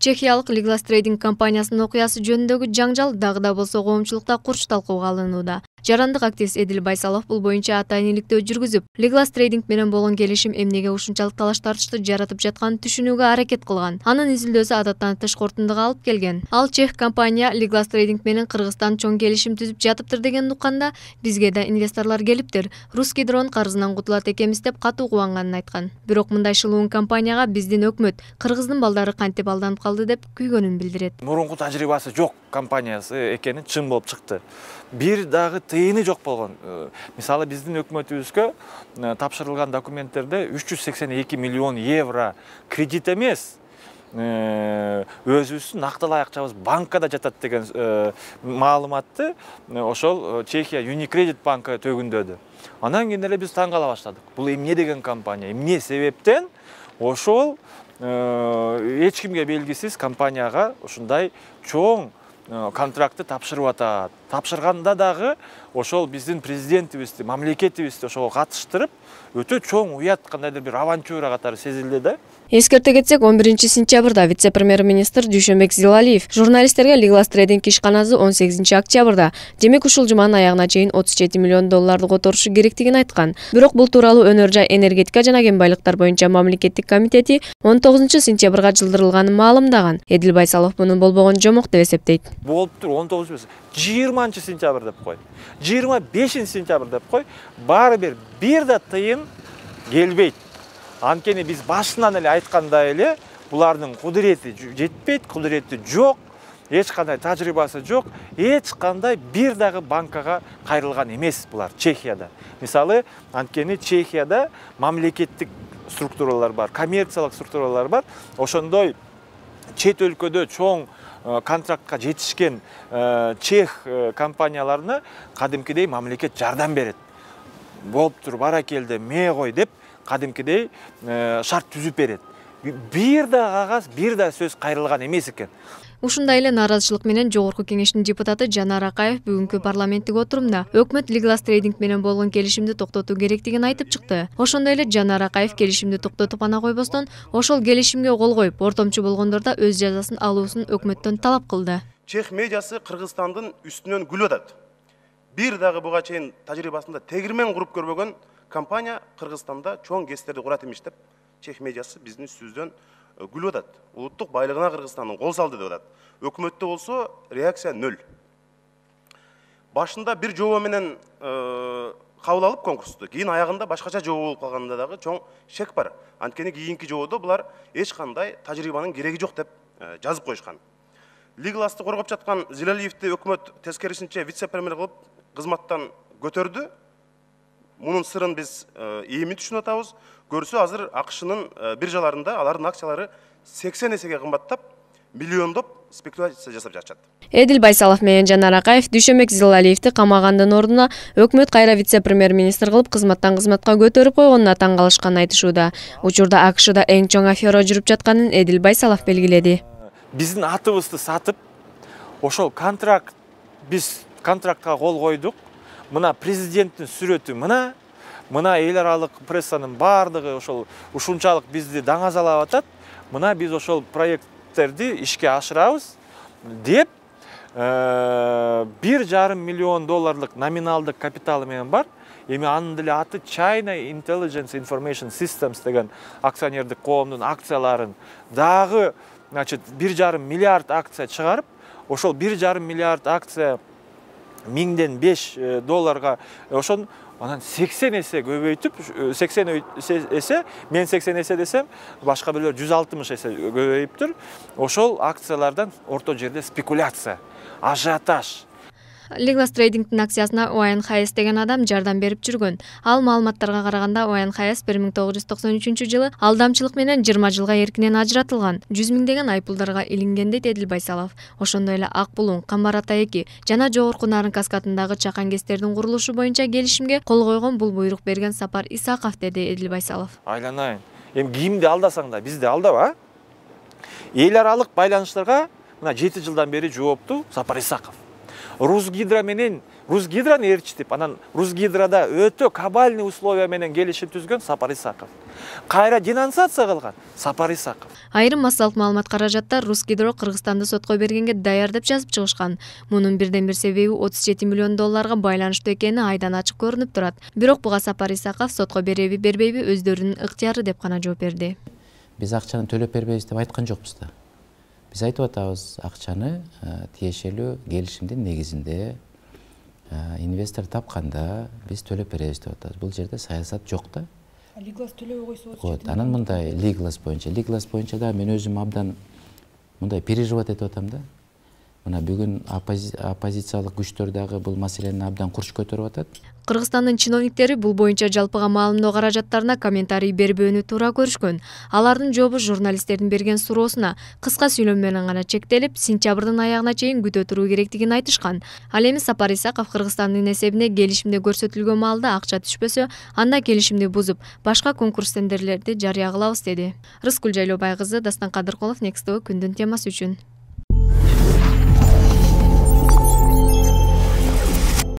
Чехиялык Liglas Trading компаниясынын окуясы жөнүндөгү жаңжал дагы да болсо коомчулукта курч талкууга алынууда. Жарандык активист Эдил Байсалов бул боюнча атайын иликтөө жүргүзүп, Liglas Trading менен болгон келишим эмнеге ушунчалык талаш тартышты жаратып жатканын түшүнүүгө аракет кылган. Анын изилдөөсү адаттан тыш корутундуга алып келген. Ал чех компания Liglas Trading менен Кыргызстан чоң келишим түзүп жатыптыр деген укканда, бизге да инвесторлор келиптир. Русгидронун карызынан кутулат экенбиз деп катуу кубанганын айткан. Бирок мындай шылуун компанияга биздин өкмөт, Кыргыздын балдары кантип алданып калды деп күйгөнүн билдирет. Мурунку тажрыйбасы жок компаниясы экени чын болуп чыкты. Бир дагы тыйыны жок болгон. Мисалы биздин өкмөтүбүзгө тапшырылган документтерде 382 миллион евро кредит эмес, өзүбүздүн нактылай акчабыз банкада жатат деген маалыматты ошол Чехия Unicredit банкы төгүндөдү. Анан кийин эле биз таң кала баштадык. Бул эмне деген компания, эмне себептен ошол эч кимге белгисиз компанияга ушундай чоң контрактты тапшырып атат. Тапшырганда дагы ошол биздин президентибизди, мамлекетибизди ошого катыштырып, өтө чоң уят, кандайдыр бир авантюра катары сезилди да. Эскерте кетсек, 11-сентябрда вице-премьер-министр Дүйшөнбек Зилалиев журналисттерге Liglas Trading ишканасы 18-октябрда, демек ушул жуманын аягына чейин 37 миллион долларды которушу керектигин айткан. Бирок бул тууралуу Өнөр жай энергетика жана кен байлыктар боюнча мамлекеттик комитети 19-сентябрга жылдырылганын маалымдаган. Эдил Байсалов мунун болбогон жомок деп эсептейт. Болуптур 20-сентябрь деп кой, 25-сентябрь деп кой, баары бир да тыйын келбейт. Анткени биз башынан эле айткандай эле, булардын кудурети жетпейт, кудурети жок, эч кандай тажрыйбасы жок, эч кандай бир дагы банкага кайрылган эмес булар Чехияда. Мисалы, анткени Чехияда мамлекеттик структуралар бар, коммерциялык структуралар бар. Ошондой чет өлкөдө чоң контрактка жетишкен чех компанияларына кадимкидей мамлекет жардам берет. Болуптур, баракелде, ме кой деп кадимкидей шарт түзүп берет. Бир да кагаз, бир да сөз кайрылган эмес экен. Ушундай эле нааразычылык менен Жогорку Кеңештин депутаты Жанар Акаев бүгүнкү парламенттик отурумда өкмөт Liglas Trading менен болгон келишимди токтотуу керектигин айтып чыкты. Ошондой эле Жанар Акаев келишимди токтотуп ана койбостон, ошол келишимге кол коюп, ортомчу болгондордо өз жазасын алуусун өкмөттөн талап кылды. Чех медиасы Кыргызстандын үстүнөн күлүп атат. Бир дагы буга чейин тажрыйбасында тегирмен куруп көрбөгөн компания Кыргызстанда чоң ГЭСтерди курат имиш деп чех медиасы биздин үстүбүздөн күлүп атат. Улуттук байлыгына Кыргызстандын кол салды деп атат. Өкмөттө болсо реакция нөл. Башында бир жобо менен кабыл алып конкурсту, кийин аягында башкача жобо болуп калганда дагы чоң шек бар. Анткени кийинки жободо булар эч кандай тажрыйбанын кереги жок деп жазып коюшкан. Liglasты коргоп жаткан Зилалиевди өкмөт тескерисинче вице-премьер кылып кызматтан көтөрдү. Мунун сырын биз эми түшүнүп атабыз. Көрсө азыр АКШнын биржаларында алардын акциялары 80 эсеге кымбаттап, миллиондоп спекуляция жасап жатышат. Эдил Байсалов менен Жанар Акаев Дүйшөнбек Зилалиевди камагандын ордуна өкмөт кайра вице-премьер-министр кылып кызматтан кызматка көтөрүп койгонуна таң калышканын айтышууда. Учурда АКШда эң чоң афера жүрүп жатканын Эдил Байсалов белгиледи. Биздин атыбызды сатып, ошол биз контрактка кол койдук. Мына президенттин сүрөтү мына эл аралык прессанын баардыгы ушунчалык бизди даңазалап атат. Мына биз ошол проекттерди ишке ашырабыз деп 1,5 миллион долларлык номиналдык капиталы менен бар. Эми анын деле аты China Intelligence Information Systems деген акционердик коомдун акцияларын дагы 1,5 миллиард акция чыгарып, ошол 1,5 миллиард акция 1005 долларга ошон анан 80 эсе көбөйтүп, 80 эсе, мен 80 эсе десем, башка бирлер 160 эсе көбөйүптүр. Ошол акциялардан орто жерде спекуляция, ажиотаж. Liglas Trading'дин акциясына ОНХС деген адам жардам берип жүргөн. Ал маалыматтарга караганда ОНХС 1993-жылы алдамчылык менен 20 жылга эркинен ажыратылган. 100 миңдеген айыппулдарга илинген дейт Эдил Байсалов. Ошондой эле Ак Булуң, Камбар Ата 2 жана Жогорку Нарын каскадындагы чакан ГЭСтердин курулушу боюнча келишимге кол койгон, бул буйрук берген Сапар Исаков, деди Эдил Байсалов. Айланайын. Эми кимди алдасаң да бизди алдаба. Эл аралык байланыштарга мына 7 жылдан бери жоопту Сапар Исаков. Русгидро менен Русгидрону ээрчитип, анан Русгидрода өтө кабальный условия менен келишим түзгөн Сапар Исаков. Кайра денонсация кылган Сапар Исаков. Айрым массалык маалымат каражаттар Русгидро Кыргызстанды сотко бергенге даяр деп жазып чыгышкан. Мунун бирден бир себеби 37 миллион долларга байланыштуу экени айдан ачык көрүнүп турат. Бирок буга Сапар Исаков сотко береби бербейби өздөрүнүн ыктыяры деп гана жооп берди. Биз акчаны төлөп бербейбиз деп айткан жокпуз да. Биз айтып атабыз, акчаны тиешелүү келишимдин негизинде инвестор тапканда биз төлөп беребиз деп атабыз. Бул жерде саясат жок да. Лиглас төлөбөй койсо болот. Анан мындай Лиглас боюнча да мен өзүм абдан мындай переживать этип атам да. Мына бүгүн оппозициялык күчтөр дагы бул маселени абдан курч көтөрүп атат. Кыргызстандын чиновниктери бул боюнча жалпыга маалымдоо каражаттарына комментарий бербөөнү туура көрүшкөн. Алардын жообу журналисттердин берген суроосуна кыска сүйлөм менен гана чектелип, сентябрдын аягына чейин күтө туруу керектигин айтышкан. Ал эми Сапар Исаков Кыргызстандын эсебине келишимде көрсөтүлгөн маалда акча түшпөсө, анда келишимди бузуп, башка конкурс тендерлерди жарыя кылабыз деди. Рыскүл Жайлообай кызы, Дастан Кадыркулов, Next TV күндүн темасы үчүн.